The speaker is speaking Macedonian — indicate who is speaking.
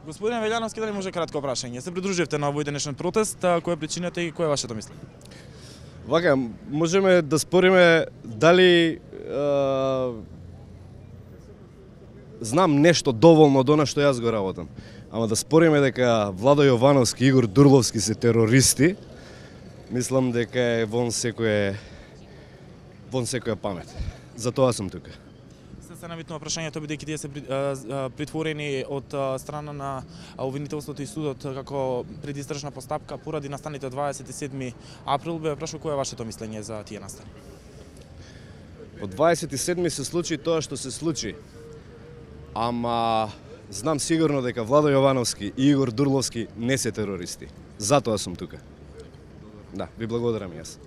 Speaker 1: Господин Велјановски, дали може кратко прашање? Се придруживте на овој денешен протест, која е причината и кое е вашето мислење?
Speaker 2: Вака, можеме да спориме дали знам нешто доволно до на што јас го работам. Ама да спориме дека Владо Јовановски и Игор Дурловски се терористи, мислам дека е вон секоја памет. Затоа сум тука.
Speaker 1: Се навитнува прашањето, бидејќи тие се притворени од страна на обвинителството и судот како предистражна постапка поради настаните од 27 април, бе прашува кое е вашето мислење за тие настани?
Speaker 2: Од 27 се случи тоа што се случи. Ама знам сигурно дека Владо Јовановски и Игор Дурловски не се терористи. Затоа сум тука. Да, ви благодарам јас.